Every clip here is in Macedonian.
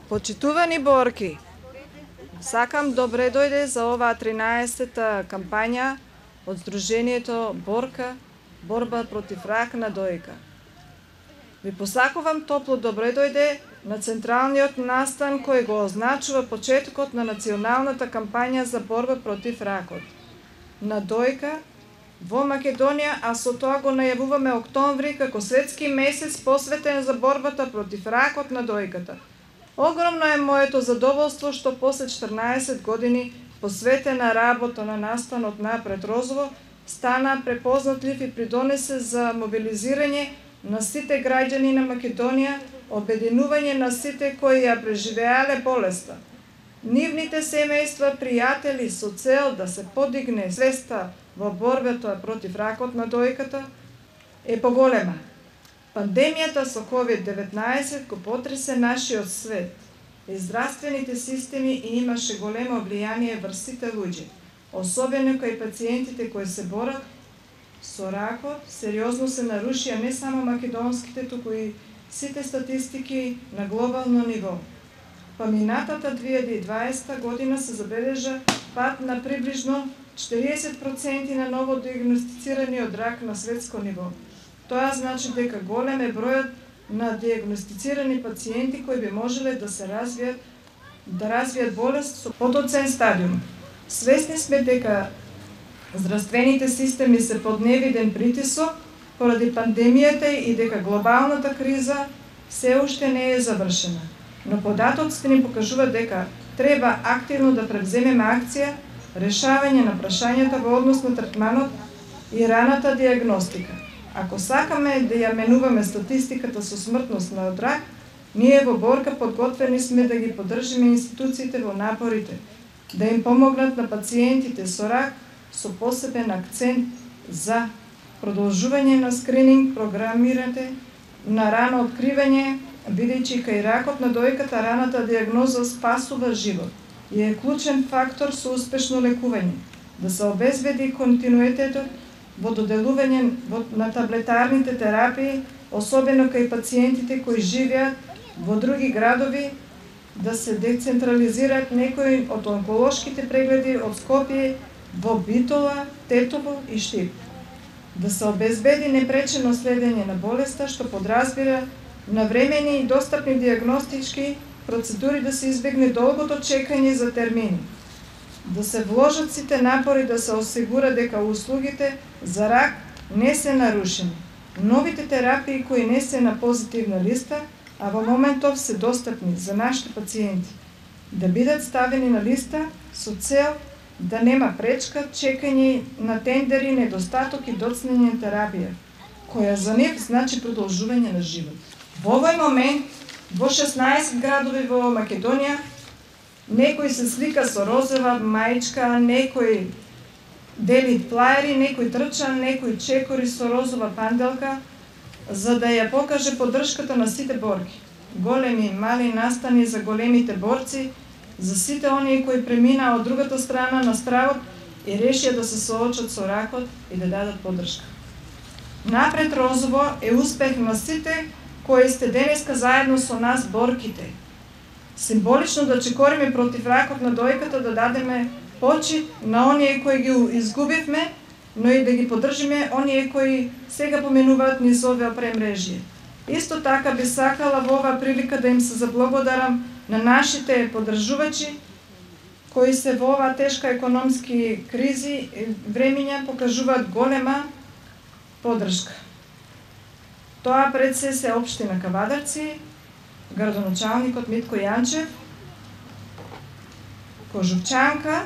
Почитувани борки, сакам добре дојде за оваа 13-та кампања од Сдружението Борка, борба против рак на дојка. Ви посакувам топло добре дојде на централниот настан кој го означува почетокот на националната кампања за борба против ракот на дојка во Македонија, а со тоа го најавуваме октомври како светски месец посветен за борбата против ракот на дојката. Огромно е моето задоволство што после 14 години посветена работа на настанот Напред Розово стана препознатлив и придонесе за мобилизирање на сите граѓани на Македонија, обединување на сите кои ја преживеале болеста. Нивните семејства, пријатели со цел да се подигне свеста во борбата против ракот на дојката е поголема. Пандемијата со COVID-19 го потресе нашиот свет и здравствените системи и имаше големо влијание врз сите луѓе, особено кај пациентите кои се борат со ракот. Сериозно се нарушија не само македонските, туку и сите статистики на глобално ниво. Па минатата 2020 година се забележа пад на приближно 40% на ново диагностицирани од рак на светско ниво. Тоа значи дека голем е бројот на диагностицирани пациенти кои би можеле да се развијат болест со подоцен стадиум. Свесни сме дека здравствените системи се под невиден притисок поради пандемијата и дека глобалната криза се уште не е завршена. Но податоците ни покажува дека треба активно да превземеме акција, решавање на прашањата во однос на третманот и раната диагностика. Ако сакаме да ја менуваме статистиката со смртност на од рак, ние во Борка подготвени сме да ги поддржиме институциите во напорите, да им помогнат на пациентите со рак со посебен акцент за продолжување на скрининг програмирате на рано откривање, бидејќи кај ракот на дојката раната диагноза спасува живот и е клучен фактор со успешно лекување, да се обезбеди континуитетот во доделување на таблетарните терапии, особено кај пациентите кои живеат во други градови, да се децентрализираат некои од онколошките прегледи од Скопје во Битола, Тетово и Штип. Да се обезбеди непречено следење на болеста, што подразбира навремени и достапни диагностички процедури, да се избегне долгото чекање за термини. Да се вложат сите напори да се осигура дека услугите за рак не се нарушени. Новите терапии кои не се на позитивна листа, а во моментов се достапни за нашите пациенти, да бидат ставени на листа со цел да нема пречка, чекање на тендери, недостаток и доцнење терапија, која за нив значи продолжување на живот. Во овој момент, во 16 градови во Македонија, некој се слика со розова маичка, некој дели плаери, некој трча, некој чекори со розова панделка, за да ја покаже поддршката на сите борки. Големи и мали настани за големите борци, за сите оние кои преминаа од другата страна на стравот и решија да се соочат со ракот и да дадат поддршка. Напред Розово е успех на сите кои сте денеска заедно со нас борките. Символично да чекориме против ракот на дојката, да дадеме почит на оние кои ги изгубивме, но и да ги поддржиме оние кои сега поменуваат низ оваа премрежје. Исто така би сакала во оваа прилика да им се заблагодарам на нашите поддржувачи кои се во оваа тешка економски кризи времиња покажуваат голема поддршка. Тоа пред се општина Кавадарци, градоначалникот Митко Јанчев, Кожувчанка,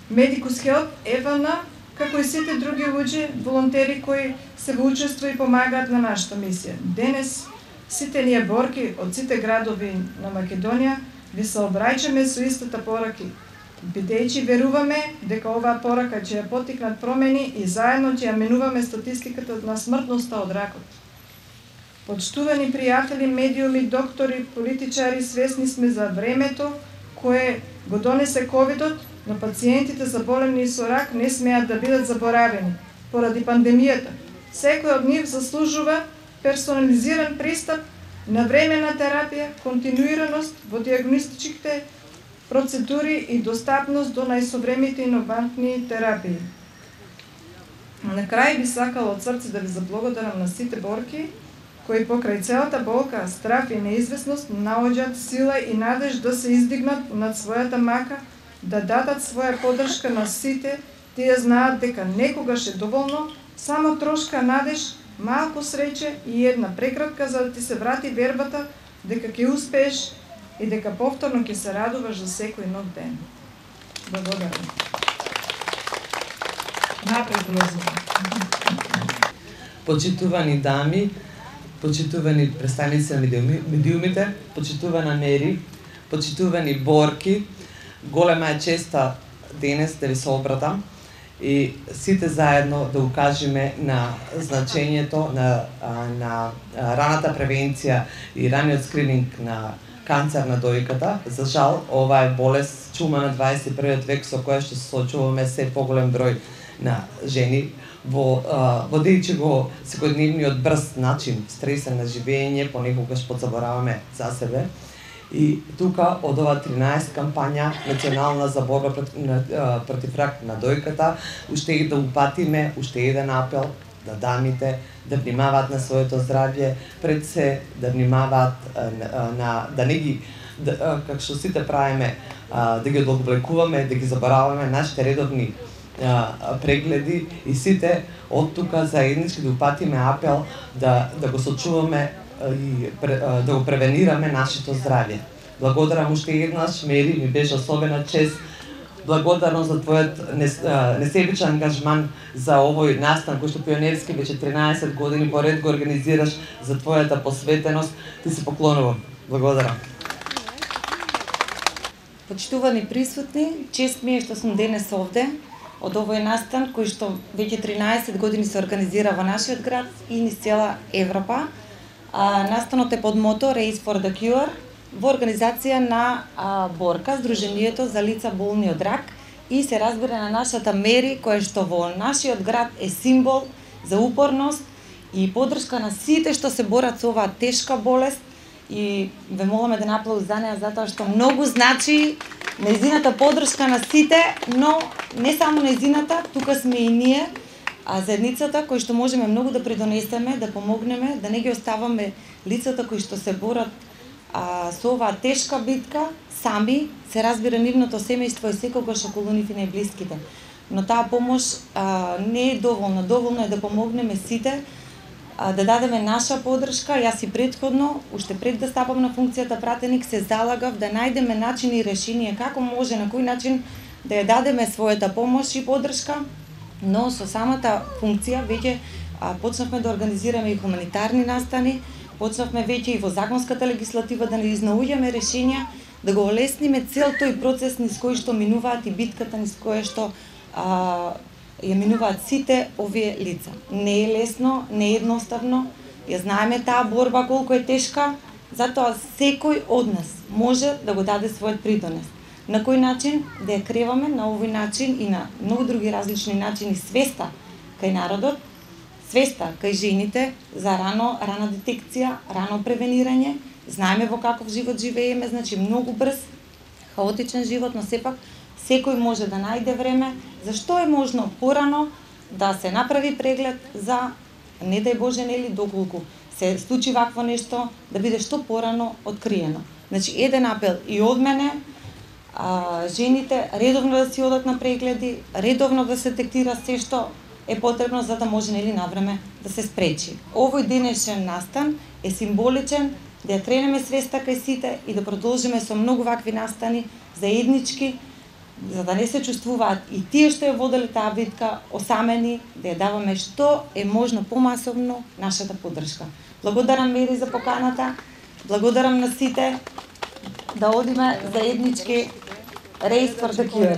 Медикус Хелп, Евана, како и сите други луѓе, волонтери кои се во учество и помагаат на нашата мисија. Денес сите ние борки од сите градови на Македонија ви се обраќаме со истата пораки, бидејќи веруваме дека оваа порака ќе ја поттикнат промени и заедно ќе ја менуваме статистиката на смртноста од ракот. Почтувани пријатели, медиуми, доктори, политичари, свесни сме за времето кое го донесе ковидот, но пациентите заболени со рак не смеат да бидат заборавени поради пандемијата. Секој од нив заслужува персонализиран пристап навремена терапија, континуираност во диагностичките процедури и достапност до најсовремените иновантни терапии. На крај би сакала од срце да ви заблагодарам на сите борки кои покрај целата болка, страф и неизвестност наоѓаат сила и надеж да се издигнат над својата мака, да дадат своја поддршка на сите. Тие знаат дека некогаш е доволно, само трошка надеж, малку среќа и една прекратка за да ти се врати вербата дека ќе успееш и дека повторно ќе се радуваш за секој нов ден. Благодарам. Напред, Роза. Почитувани дами, почитувани представници на медиумите, почитувана Мери, почитувани борки, голема е честа денес да ви се обратам и сите заедно да укажеме на значењето на раната превенција и раниот скрининг на канцер на дојката. За жал, ова е болест чума на 21 век со која што се соочуваме се поголем број на жени водејќи го секојдневниот брз начин, стресен на живење, понекогаш подзабораваме за себе. И тука од ова 13 кампања национална за борба против рак на дојката, уште и да упатиме, уште еден апел да дамите да внимаваат на своето здравје, пред се да внимаваат да не ги како што сите правиме, да ги одоблекуваме, да ги забораваме нашите редовни прегледи и сите од тука заеднички да упатиме апел да го сочуваме и да го превенираме нашето здравје. Благодарам уште еднаш, Мери, ми беше особена чест. Благодарам за твојот несебичен ангажман за овој настан кој што пионерски веќе 13 години поред го организираш, за твојата посветеност. Ти се поклонувам. Благодарам. Почитувани присутни, чест ми е што сум денес овде од овој настан кој што веќе 13 години се организира во нашиот град и низ цела Европа. Настанот е под мото Race for the Cure во организација на Борка, Сдруженијето за лица болни од рак, и се разбира на нашата Мери, која што во нашиот град е символ за упорност и поддршка на сите што се борат со оваа тешка болест, и ве молиме да аплауз за неа затоа што многу значи нејзината поддршка на сите, но не само нејзината, тука сме и ние, заедницата кои што можеме многу да придонесеме, да помогнеме, да не ги оставаме лицата кои што се борат со оваа тешка битка сами, се разбира нивното семејство и секогаш околу нив и најблиските. Но таа помош не е доволна. Доволно е да помогнеме сите, да дадеме наша поддршка. Јас и предходно, уште пред да стапам на функцијата пратеник, се залагав да најдеме начини и решенија како може, на кој начин да ја дадеме својата помош и поддршка, но со самата функција веќе почнавме да организираме и хуманитарни настани, почнавме веќе и во законската легислатива да не изнаоѓаме решенија, да го олесниме цел тој процес низ кој што минуваат и битката низ која што ја минуваат сите овие лица. Не е лесно, не е едноставно, ја знаеме таа борба колку е тешка, затоа секој од нас може да го даде својот придонес. На кој начин? Да ја креваме на овој начин и на многу други различни начини свеста кај народот, свеста кај жените за рана детекција, рано превенирање. Знаеме во каков живот живееме, значи многу брз, хаотичен живот, но сепак секој може да најде време, зашто е можно порано да се направи преглед за, не дај Боже, нели, доколку се случи вакво нешто, да биде што порано откриено. Значи, еден апел и од мене, жените редовно да си одат на прегледи, редовно да се детектира се што е потребно за да може, нели, навреме да се спречи. Овој денешен настан е символичен, да ја кренеме свеста кај сите и да продолжиме со многу вакви настани заеднички, за да не се чувствуваат и тие што ја воделе таа битка осамени, да ја даваме што е можно помасовно нашата поддршка. Благодарам, Мери, за поканата, благодарам на сите, да одиме заеднички Race for the Cure.